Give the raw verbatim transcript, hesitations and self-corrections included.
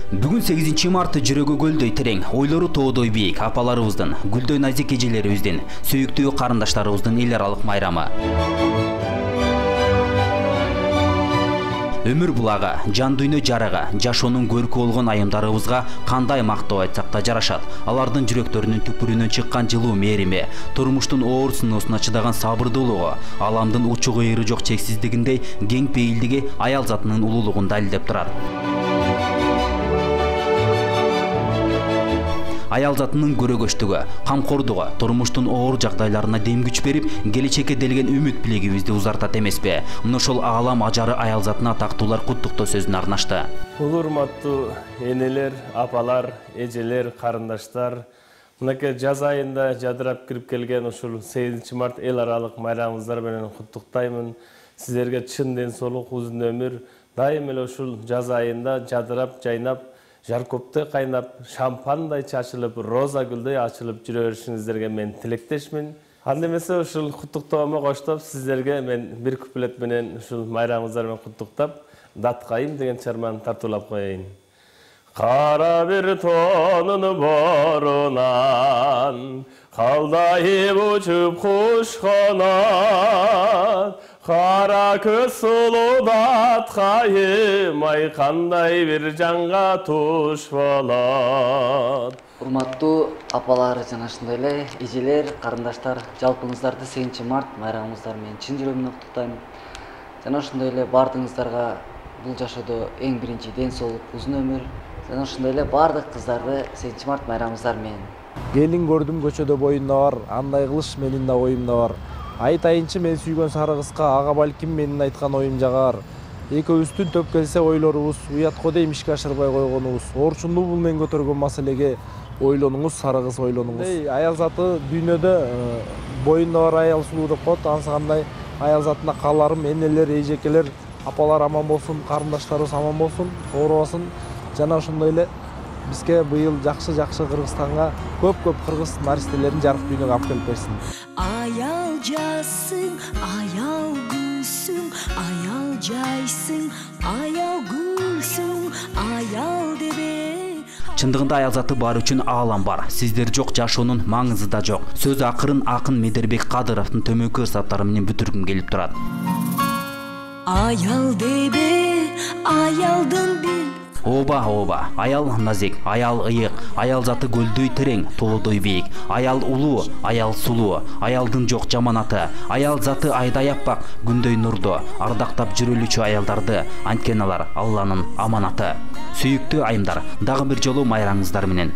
Бүгүн сегизинчи март жүрөгү көлдөй терең, ойлору тоодой бийик апаларыбыздын, гүлдөй назик эжелерибиздин, сүйүктүү карындаштарыбыздын эл аралык майрамы. Өмүр булагы, жан дүйнө жарыгы, жашоонун көркү болгон айымдарыбызга кандай мактоо айтсак да жарашат. Алардын жүрөктөрүнүн түпүрүнөн чыккан жылуу мээрими, турмуштун оор сыноосуна чыдаган сабырдуулугу, аламдын учу кыйыры жок чексиздигиндей кең пейилдиги аял затынын улуулугун далилдеп турат. Аял затынын көрөгөчтүгү, камкордугу, турмуштун оор жагдайларына дем күч берип, келечекке делген үмүт билегибизди узартат эмеспи? Мына ошол аалам ажары аял затына тактуулар куттуктоо сөзүн арнашты. Урматтуу энелер, апалар, эжелер, карындаштар, мынакей жаз айында жадырап кирип келген ушул сегизинчи март эл аралык майрамыңыздар менен куттуктаймын. Сиздерге чын ден соолук, узун өмүр, дайым эле ушул жаз айында жадырап, жайнап, жаркоптой кайнап, шампандай чачылып, роза гүлдөй ачылып жүрө беришиңиздерге мен тилектешмин. Анда эмесе ушул куттуктоомо коштоп, сиздерге мен бир куплет менен ушул майрамыңыздар менен куттуктап, Даткайым деген чарманы тартуулап коеюн. Кара бир тонун борунан, калдайып учуп куш канат, кара көз сулуу Даткайым, ай кандай бир жанга туш болот. Урматтуу апалар жана ошондой эле эжелер, карындаштар, жалпыңыздарды сегизинчи март майрамыңыздар менен чын жүрөгүмдөн куттуктаймын. Жана ошондой эле баардыгыңыздарга бул жашоодо эң биринчи ден соолук, узун өмүр, жана ошондой эле баардык кыздарды сегизинчи март майрамыңыздар менен. Келин көрдүм көчөдө боюнда бар, андай кылыш менин да оюмда бар. Айтайынчы мен сүйгөн сары кызга, ага балким менин айткан оюм жагар. Экөөбүздүн төп келсе ойлорубуз, уят го дейм ишке ашырбай койгонубуз. Орчундуу бул мен көтөргөн маселеге ойлонуңуз, сары кыз ойлонуңуз. Аял заты дүйнөдө боюнда бар аял сулуу деп коет. Ансыкандай аял затына кааларым, энелер, эжекелер, апалар аман болсун, карындаштарыбыз аман болсун, оорубасын. Жана ошондой эле бизге быйыл жакшы-жакшы Кыргызстанга көп-көп кыргыз наристелерин жарык дүйнөгө алып келип берсин. Аял жасың, аял гүлсүң, аял жайсың, аял гүлсүң, аял дебе. Чындыгында аял заты бар үчүн аалам бар. Сиздер жок, жашоонун маңызы да жок. Сөз акырын акын Медербек Кадыровдун төмөнкү ырсаттары менен бүтүргүм келип турат. Аял дебе, аялдын бил. Оба, оба, аял назик, аял ыйык, аял заты көлдөй терең, тоодой бийик, аял улуу, аял сулуу, аялдын жок жаманаты, аял заты айдай аппак, күндөй нурдо, ардактап жүрөлүчү аялдарды, анткени алар Алланын аманаты. Сүйүктүү айымдар, дагы бир жолу майрамыңыздар менен.